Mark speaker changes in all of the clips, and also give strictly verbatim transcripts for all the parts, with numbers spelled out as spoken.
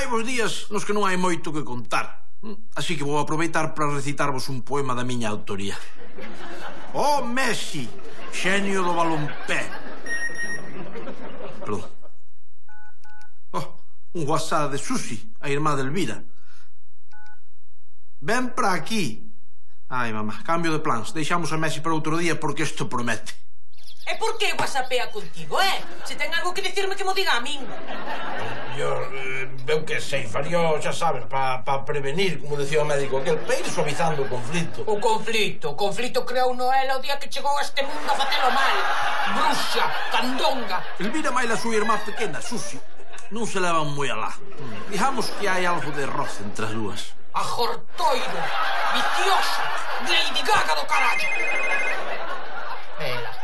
Speaker 1: hai vos días nos que non hai moito que contar. Así que vou aproveitar para recitarvos un poema da miña autoría. Oh, Messi, xenio do balompé. Perdón. Oh, un WhatsApp de Susi, a irmá de Elvira. Ven para aquí. Ai, mamá, cambio de plans. Deixamos a Messi para outro día porque isto promete.
Speaker 2: E por que whatsappea contigo, eh? Se ten algo que dicirme que mo diga a min.
Speaker 1: Yo, eh, veu que sei, faría, xa sabes, para pa prevenir, como decía o médico aquel, para ir suavizando o conflito.
Speaker 2: O conflito, o conflito creou Noela o día que chegou a este mundo a facelo mal. Bruxa, candonga.
Speaker 1: Elvira máis a súa irmá pequena, Susi, non se levan moi alá. Digamos que hai algo de roce entre as dúas.
Speaker 2: Ajortoiro, viciosa, Lady Gaga do carallo. Ela.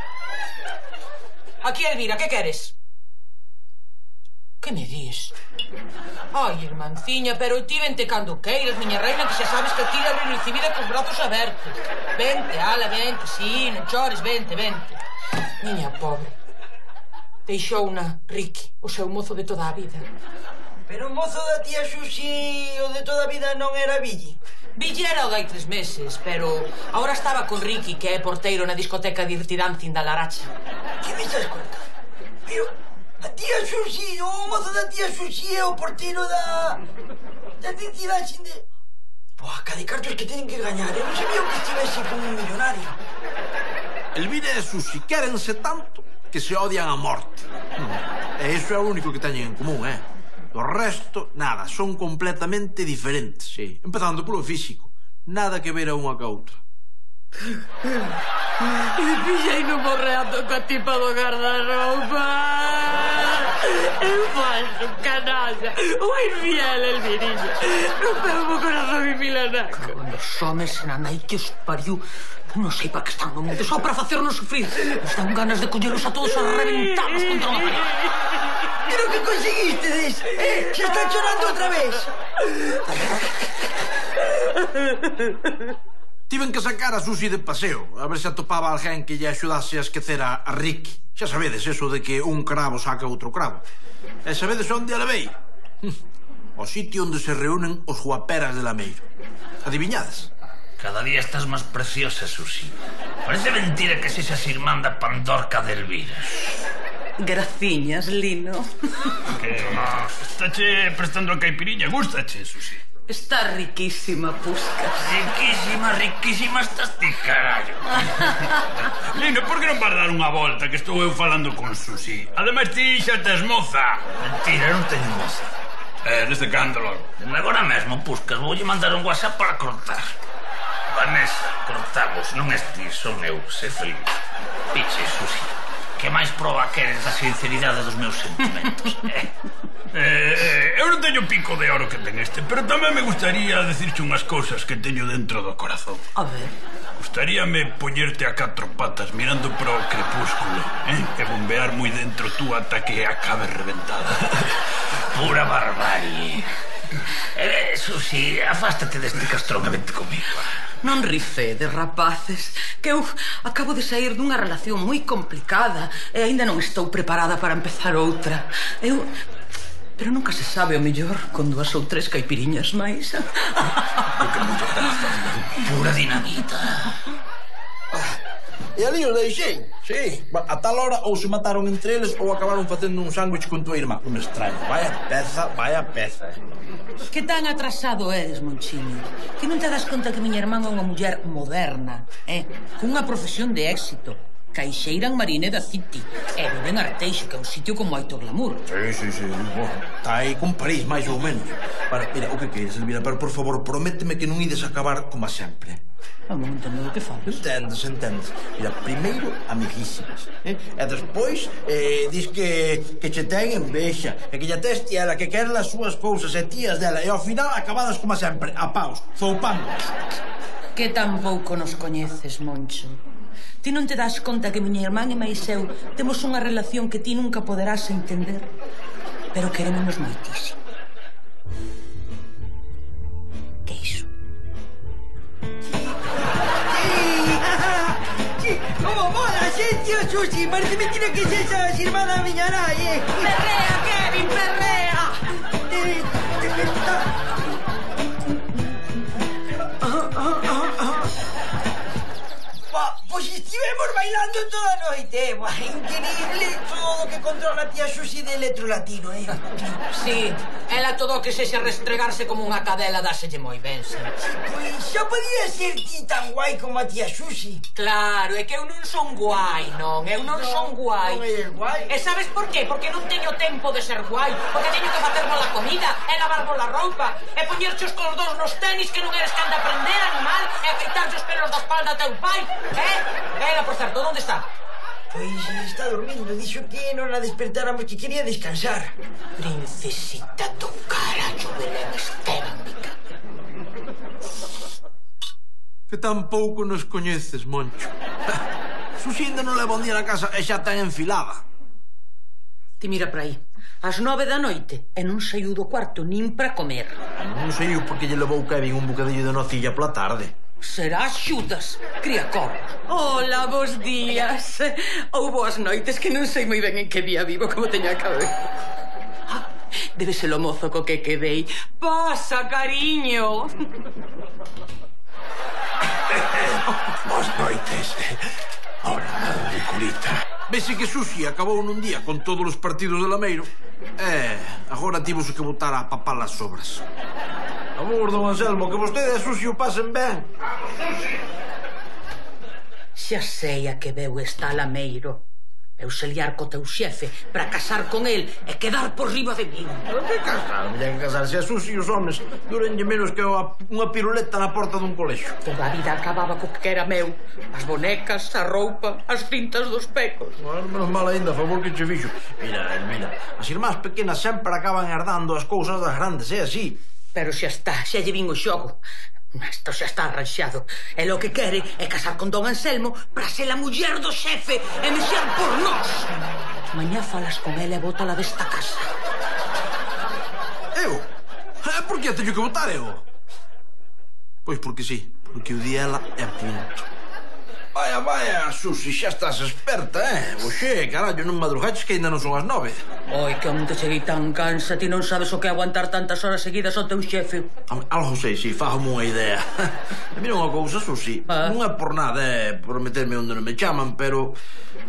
Speaker 2: Aquí, Elvira, que queres? Que me dis? Ai, irmanciña, pero ti vente cando queiras, miña reina, que xa sabes que aquí eres recibida cos brazos abertos. Vente, ala, vente, sí, non chores, vente, vente. Miña pobre. Deixouna Ricky, o seu mozo de toda a vida.
Speaker 3: Pero o mozo da tía Susi, o de toda a vida, non era Billy?
Speaker 2: Billy era o dai tres meses, pero agora estaba con Ricky, que é porteiro na discoteca Dirty Dancing da Laracha.
Speaker 3: Que me estás contando? Pero a tía Susi, o mozo da tía Susi é o porteiro da... da Dirty Dancing de... Boa, cada cartos que teñen que gañar. Eu non sabía que estivese con un millonario.
Speaker 1: Elvira e Susi quérense tanto que se odian a morte. E iso é o único que teñen en común, eh? O resto, nada, son completamente diferentes, sí. Empezando polo físico. Nada que ver a unha ca outra.
Speaker 2: E pillei no morreando coa tipa do guardarroupa. É falso, canalla. O infiel, Elvirilla. Rompeu o corazón en Milanaco. Os homes na nai que os pariu. Non sei para que están no mundo, só para facernos sufrir. Nos dan ganas de collelos a todos a reventarnos contra unha pared.
Speaker 3: Pero que conseguistedes? Eh, xa están chorando outra vez.
Speaker 1: Tiven que sacar a Susi de paseo, a ver se atopaba alguén que lle axudase a esquecer a, a Ricky. Xa sabedes, eso de que un cravo saca outro cravo. E sabedes onde a levei? O sitio onde se reúnen os guaperas de Lameiro. Adiviñades?
Speaker 4: Cada día estás máis preciosa, Susi. Parece mentira que sexas irmán da Pandorca de Elvira.
Speaker 2: Graciñas, Lino.
Speaker 5: Que estáche prestando a caipiriña, gustache, Susi?
Speaker 2: Está riquísima, Puscas.
Speaker 4: Riquísima, riquísima estás ti, carallo.
Speaker 5: Lino, por que non vas dar unha volta que estou eu falando con Susi? Ademais ti xa tes moza.
Speaker 4: Mentira, non teño moza.
Speaker 5: Eh, neste cándalo.
Speaker 4: Dende agora mesmo, Puscas, voulle mandar un WhatsApp para cortar. Vanessa, cortamos, non es ti, son eu, sé feliz. Piche, Susi. Que máis proba queres da sinceridade dos meus sentimentos, eh?
Speaker 5: Eh, eu non teño pico de oro que ten este, pero tamén me gustaría decirche unhas cousas que teño dentro do corazón.
Speaker 2: A ver.
Speaker 5: Gustaríame poñerte a catro patas mirando para o crepúsculo, eh? E bombear moi dentro tú ata que acabe reventada.
Speaker 4: Pura barbarie. Eh, Susi, afástate deste castrón e vente comigo.
Speaker 2: Non rifedes, rapaces, que eu acabo de sair dunha relación moi complicada e aínda non estou preparada para empezar outra. Eu... Pero nunca se sabe, o mellor, con dúas ou tres caipiriñas máis.
Speaker 4: Pura dinamita.
Speaker 1: E ali os deixei, sí. A tal hora ou se mataron entre eles ou acabaron facendo un sándwich con tua irmá. Un extraño, vaya peza, vaya peza.
Speaker 2: Que tan atrasado eres, Monchiño? Que non te das conta que miña irmán é unha muller moderna, eh? Cunha profesión de éxito. Caixeira en Marineda City. E vive en Arteixo, que é un sitio con moito glamour.
Speaker 1: Sí, sí, sí. Está aí con París, máis ou menos. Para, mira, o que queres, Elvira? Pero, por favor, prométeme que non ides acabar como sempre.
Speaker 2: Non entendo do que falas.
Speaker 1: Entendes, entendes. Mira, primeiro, amiguísimas, eh? E despois, eh, dis que, que che ten envexa, e que lle teste ela, que queren as súas cousas e tías dela, e ao final acabadas como sempre, a paus, zoupando.
Speaker 2: Que tan pouco nos coñeces, Moncho. Ti non te das conta que miña irmán e máis eu temos unha relación que ti nunca poderás entender, pero querémonos moitísimo. Que iso?
Speaker 3: Como mola, sí, tío Susi. Parece mentira que seas irmana miña nai, eh.
Speaker 2: Perrea, Kevin, perrea.
Speaker 3: Eh, bailando toda a noite. Buah, increíble todo o que controla a tía Xuxi de electrolatino, eh?
Speaker 2: Sí, ela todo o que sexa restregarse como unha cadela dáselle moi ben, sí.
Speaker 3: Pois xa podía ser ti tan guai como a tía Xuxi.
Speaker 2: Claro, é que eu non son guai, non, eu non son guai.
Speaker 3: Non eres guai.
Speaker 2: E sabes por qué? Porque non teño tempo de ser guai, porque teño que facervos a comida, e lavarvos a roupa, e poñerche os coldos nos tenis que non eres can de aprender, animal, e afeitarche os pelos da espalda a teu pai, eh? Ela, por certo, onde está?
Speaker 3: Pois está dormindo, dixo que non a despertáramos, que quería descansar.
Speaker 2: Princesita do carallo, Belén Esteban, mica.
Speaker 1: Que tampouco nos coñeces, Moncho. Xuxi ainda non leva un día na casa e xa ten enfilada.
Speaker 2: Ti mira para aí, ás nove da noite, e non saiu do cuarto nin para comer.
Speaker 1: Non sei eu porque lle levou Kevin un bocadillo de nocilla pola tarde.
Speaker 2: Será Xudas, cría cornos. Hola, bos días. Ou boas noites, que non sei moi ben en que día vivo, como teño a cabeza. Ah, debe ser o mozo co que quedei. Pasa, cariño.
Speaker 5: Boas noites. Hola, Riculita.
Speaker 1: Vese que Xuxi acabou nun día con todos os partidos de Lameiro. E agora tivos que botar a papar as sobras. Amor, don Anselmo, que vostede e Xuxi o pasen ben.
Speaker 2: Xa sei a que veu está Lameiro. Eu se liar co teu xefe para casar con el e quedar por riba de min.
Speaker 1: Pero que casar? Mellén casarse a Xuxi e os homes durenlle menos que unha piruleta na porta dun colexo.
Speaker 2: Toda a vida acababa co que era meu. As bonecas, a roupa, as cintas dos pecos.
Speaker 1: Bueno, menos mal ainda, a favor que che fixo. Mira, Elvira, as irmás pequenas sempre acaban herdando as cousas das grandes, é así.
Speaker 2: Pero xa está, xa lle vin o xogo. Isto xa está arranxado. E lo que quere é casar con don Anselmo para ser a muller do xefe e mexer por nós. Mañá falas con ela e bótala desta casa.
Speaker 1: Eu? Por que a teño que votar eu? Pois porque sí, porque o di ela é punto. Vaya, vaya, Xuxi, xa estás experta, eh? Oxe, carallo, non madrugaches que ainda non son as nove.
Speaker 2: Oi, que onde cheguei tan cansa, ti non sabes o que é aguantar tantas horas seguidas ao teu xefe.
Speaker 1: Algo sei, si, fájome unha idea. E mira unha cousa, Xuxi,
Speaker 2: ah.
Speaker 1: non é por nada, é por meterme onde non me chaman, pero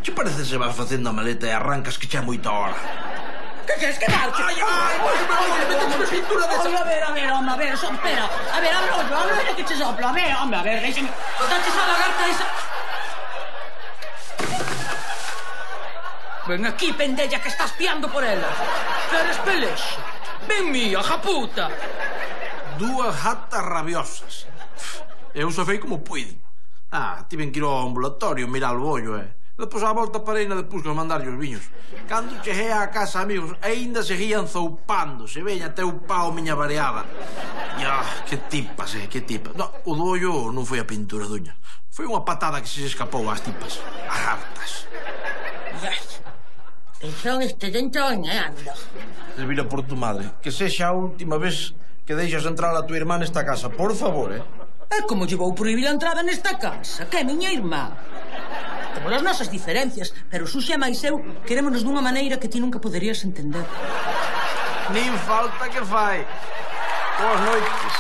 Speaker 1: che parece se vas facendo a maleta e arrancas que xa é moita hora.
Speaker 2: Que queres que marche?
Speaker 1: Ai, ai, oye, oye, metete unha pintura desa.
Speaker 2: A ver, a ver, home, a ver, so, espera. A ver, abre o ollo, abre o ollo que che sopla. A ver, home, a ver, déxeme. Botaches a lagarta esa... Ven aquí, pendella, que estás piando por ela. Queres pelexo? Ven mía, japuta.
Speaker 1: Dúas jatas rabiosas. Eu só fei como puiden. Ah, tiven que ir ao ambulatorio, mirar o ollo, eh. Depois a volta parei na de Pusca a mandarlle os viños. Cando cheguei á casa, amigos, aínda seguían zoupando. Se veña até o pau miña variada. E, ah, que tipas, eh, que tipas. No, o do ollo non foi a pintura duña. Foi unha patada que se escapou ás tipas. As hartas.
Speaker 2: Yes. Pensión este dentro e anda.
Speaker 1: Elvira, por tu madre, que sexa a última vez que deixas entrar a tua irmá nesta casa, por favor, eh?
Speaker 2: É como lle vou prohibir a entrada nesta casa, que é miña irmá. Temos as nosas diferencias, pero Xuxa e máis eu querémonos dunha maneira que ti nunca poderías entender.
Speaker 1: Nin falta que fai. Boas noites.